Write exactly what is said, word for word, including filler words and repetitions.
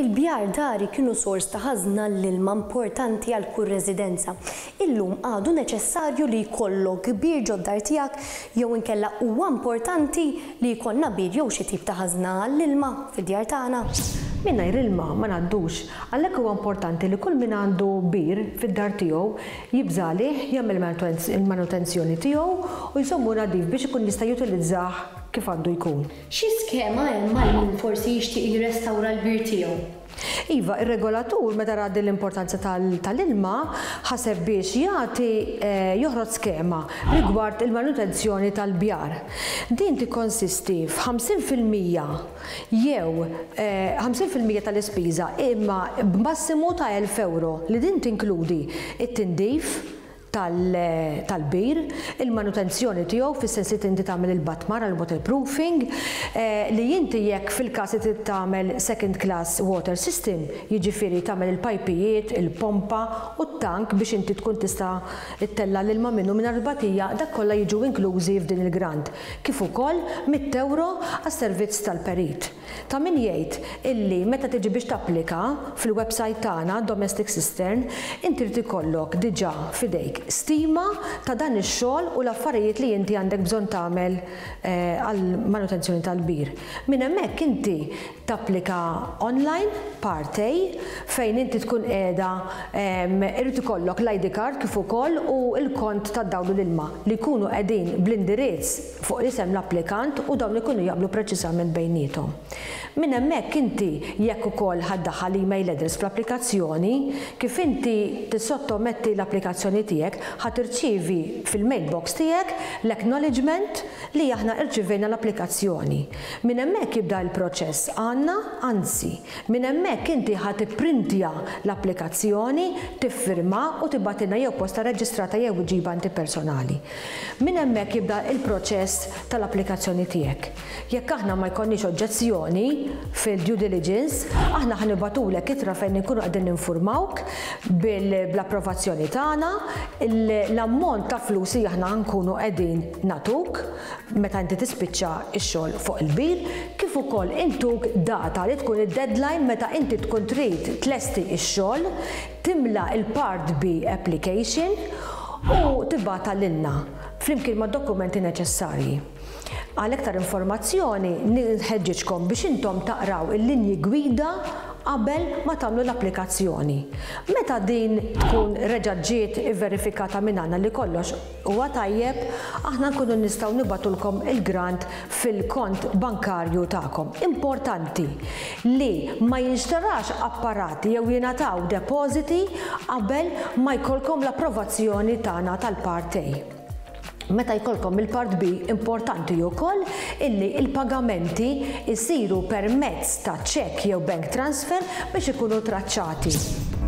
Il-bjar dari kienu sors ta' ħażna l-ilma importanti għal kull residenza. Illum għadu neċessarju li jkollok bir ġod-dar tiegħek jew inkella huwa importanti li jkollna bir jew xi tip ta' ħażna għall-ilma fid-djar tagħna? Mingħajr ilma ma ngħaddux. Għalhekk huwa importanti li kull min għandu bir fid-dar tiegħu jibża' għalih, jagħmel il-manutenzjoni tiegħu u jżommu nadif biex ikun jista' jutilizzah kif għandu jkun. Xi skema hemm għal min forsi jixtieq jirrestawra l-bir tiegħu? Iva, ir-regolatur, meta ra l-importanza tal-ilma, ħaseb biex jagħti eh, joħroġ skema rigward il-manutenzjoni tal-bjar. Din tikkonsisti f'ħamsin fil-mija jew ħamsin fil-mija eh, tal-ispiża, imma b'massimu ta' elf euro, li din tinkludi it-tindif tal-bir, il-manutenzjoni tiegħu fis-sens li inti tagħmel il-batmar għal waterproofing, eh, li inti jekk fil-każ li tagħmel second class water system, jiġifieri tagħmel il-pajpijiet, il-pompa u t-tank biex inti tkun tista' ttella' l-ilma minnu minn batija, dak kollha jiġu inklużi f'din il-grant. Kif ukoll mitt euro għas-servizz tal-perit. Ta' min jgħid illi meta tiġi biex tapplika fil-website tagħna Domestic Cistern, inti trid ikollok diġà f'idejk stima ta' dan ix-xogħol u l-affarijiet li inti għandek bżonn tagħmel eh, għal manutenzjoni tal-bir. Minn hemmhekk inti tapplika online Part A, fejn inti tkun qiegħda irid ikollok l-I D card kif ukoll u l-kont tad-dawl u l-ilma li jkunu qegħdin bl-indirizz fuq isem l-applikant u dawn ikunu jaqblu preċiżament bejniethom. Minn hemmhekk inti jekk ukoll ħa ddaħħal email address fl-applikazzjoni, kif inti tissottometti l-applikazzjoni tiegħek, ħa tirċievi fil-mailbox tiegħek l-acknowledgement li aħna irċivejna l-applikazzjoni. Minn hemmhekk jibda l-proċess għandna, anzi, minn hemmhekk inti ħa tipprintja l-applikazzjoni, tiffirma u tibgħatilna jew posta reġistrata jew iġibha inti personali. Minn hemmhekk jibda il-proċess tal-applikazzjoni tiegħek. Jekk aħna ma jkollniex oġġezzjoni fil-due diligence, aħna ħa nibagħtulek ittra fejn nkunu qegħdin ninfurmawk bl-approvazzjoni tagħna, l-ammont ta' flus li aħna nkunu qegħdin nagħtuk meta inti tispiċċa x-xogħol fuq il-bir, kif ukoll intuk data li tkun id-deadline meta inti tkun trid tlesti x-xogħol, timla il-Part B application u tibgħatha lilna flimkien ma' dokumenti neċessarji. Għal iktar informazzjoni nħeġġiġkom biex intom taqraw il-linji gwida qabel ma tagħmlu l-applikazzjoni. Meta din tkun reġa' ġiet verifikata minn għandna li kollox huwa tajjeb, aħna nkunu nistgħu nibagħtulkom il-grant fil-kont bankarju tagħkom. Importanti li ma jinxtarax apparati jew jingħataw depożiti qabel ma jkollkom l-approvazzjoni tagħna tal-Part A. Meta jkollkom il-Part B, importanti wkoll illi il-pagamenti jsiru permezz ta' ċekk jew bank transfer biex ikunu traċċati.